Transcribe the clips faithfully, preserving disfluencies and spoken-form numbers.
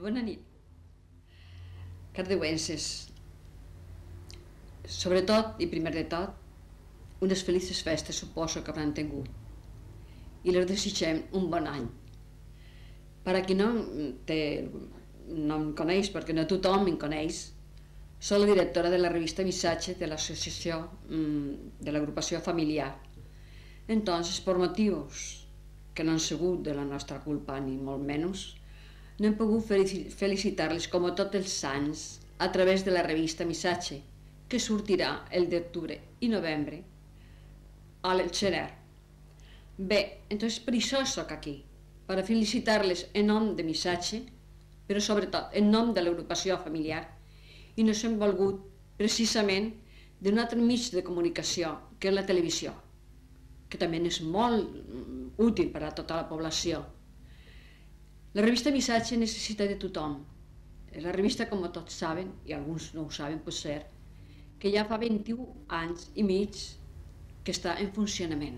Bona nit. Cardeuenses, sobretot i primer de tot, unes felices festes suposo que hauran tingut i les desitgem un bon any. Per a qui no, té, no em coneix, perquè no tothom em coneix, soc la directora de la revista Missatge de l'associació de l'agrupació familiar. Entonces, por motius que no han sigut de la nostra culpa ni molt menys, no hem pogut felicitar-les com a tots els anys a través de la revista Missatge, que sortirà el d'octubre i novembre al gener. Bé, entonces per això soc aquí, per a felicitar-les en nom de Missatge, però sobretot en nom de l'agrupació familiar, i nos hem volgut precisament d'un altre mig de comunicació, que és la televisió, que també és molt útil per a tota la població. La revista Missatge necessita de tothom. És la revista, com tots saben, i alguns no ho saben, pot ser, que ja fa vint-i-un anys i mig que està en funcionament.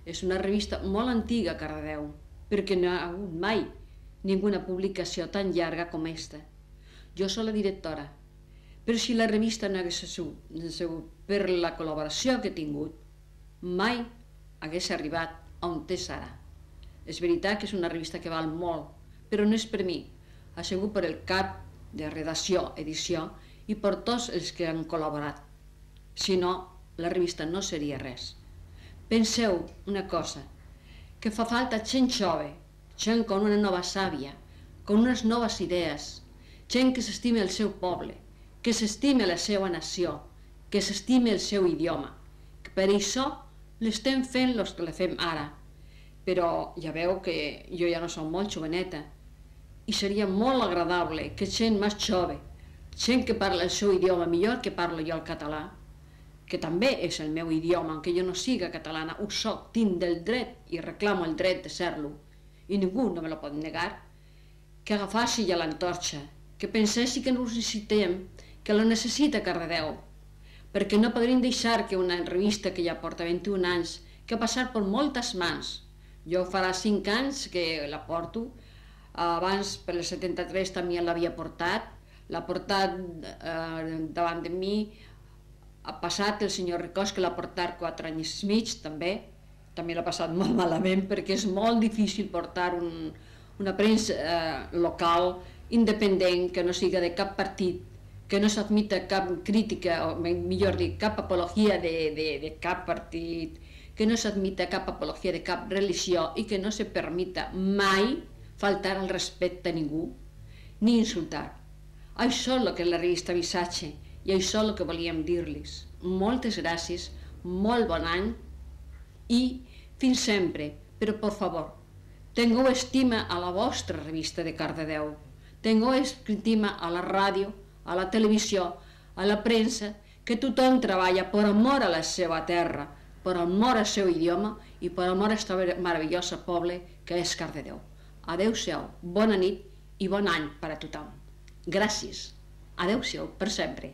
És una revista molt antiga a Cardedeu, perquè no ha hagut mai ninguna publicació tan llarga com aquesta. Jo soc la directora, però si la revista no hagués sigut per la col·laboració que he tingut, mai hagués arribat on és ara. És veritat que és una revista que val molt, però no és per mi, ha sigut per el cap de redacció, edició, i per tots els que han col·laborat. Si no, la revista no seria res. Penseu una cosa, que fa falta gent jove, gent con una nova sàvia, con unes noves idees, gent que s'estime el seu poble, que s'estime la seva nació, que s'estime el seu idioma. Per això l'estem fent els que la fem ara. Però ja veu que jo ja no soc molt joveneta i seria molt agradable que gent més jove, gent que parla el seu idioma millor que parlo jo el català, que també és el meu idioma, aunque jo no siga catalana, ho soc, tinc del dret i reclamo el dret de ser-lo i ningú no me lo pot negar, que agafassi ja l'antorxa, que pensessi que no ho necessitem, que lo necessita Cardedeu, perquè no podríem deixar que una revista que ja porta vint-i-un anys, que ha passat per moltes mans, jo farà cinc anys que la porto, abans per el setanta-tres també l'havia portat, l'ha portat davant de mi, ha passat el senyor Ricós que l'ha portat quatre anys i mig també, també l'ha passat molt malament perquè és molt difícil portar una premsa local independent que no siga de cap partit, que no s'admita cap crítica, o millor dir, cap apologia de cap partit, que no s'admita cap apologia de cap religió i que no se permita mai faltar al respecte a ningú, ni insultar. Això és el que és la revista Missatge i això és el que volíem dir-los. Moltes gràcies, molt bon any i fins sempre, però per favor, tingueu estima a la vostra revista de Cardedeu, tingueu estima a la ràdio, a la televisió, a la premsa, que tothom treballa per amor a la seva terra, per amor al seu idioma i per amor a aquest meravellós poble que és Cardedeu. Adéu-siau, bona nit i bon any per a tothom. Gràcies. Adéu-siau per sempre.